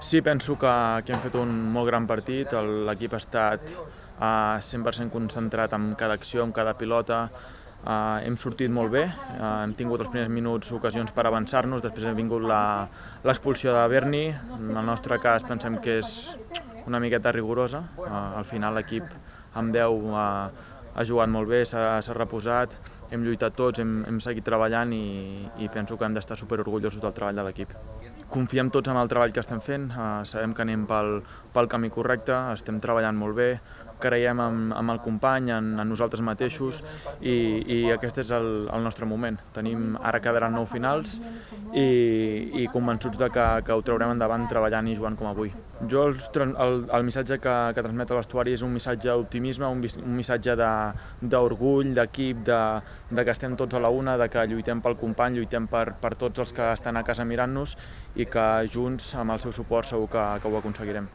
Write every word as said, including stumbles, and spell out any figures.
Sí, penso que, que hem fet un molt gran partit, l'equip ha estat uh, cent per cent concentrat en cada acció, en cada pilota, uh, hem sortit molt bé, uh, hem tingut els primers minuts ocasions per avançar-nos, després ha vingut l'expulsió de Berni, en el nostre cas pensem que és una miqueta rigorosa, uh, al final l'equip amb deu uh, ha jugat molt bé, s'ha reposat, hem lluitat tots, hem, hem seguit treballant i, i penso que hem d'estar superorgullosos del treball de l'equip. Confiem tots en el treball que estem fent, uh, sabem que anem pel, pel camí correcte, estem treballant molt bé, creiem en, en el company, en, en nosaltres mateixos i, i aquest és el, el nostre moment. Tenim, ara quedaran nou finals i, i convençuts de que, que ho traurem endavant treballant i jugant com avui. Jo el, el, el missatge que, que transmet el vestuari és un missatge d'optimisme, un, un missatge d'orgull, d'equip, de, de que estem tots a la una, de que lluitem pel company, lluitem per, per tots els que estan a casa mirant-nos i que junts, amb el seu suport, segur que, que ho aconseguirem.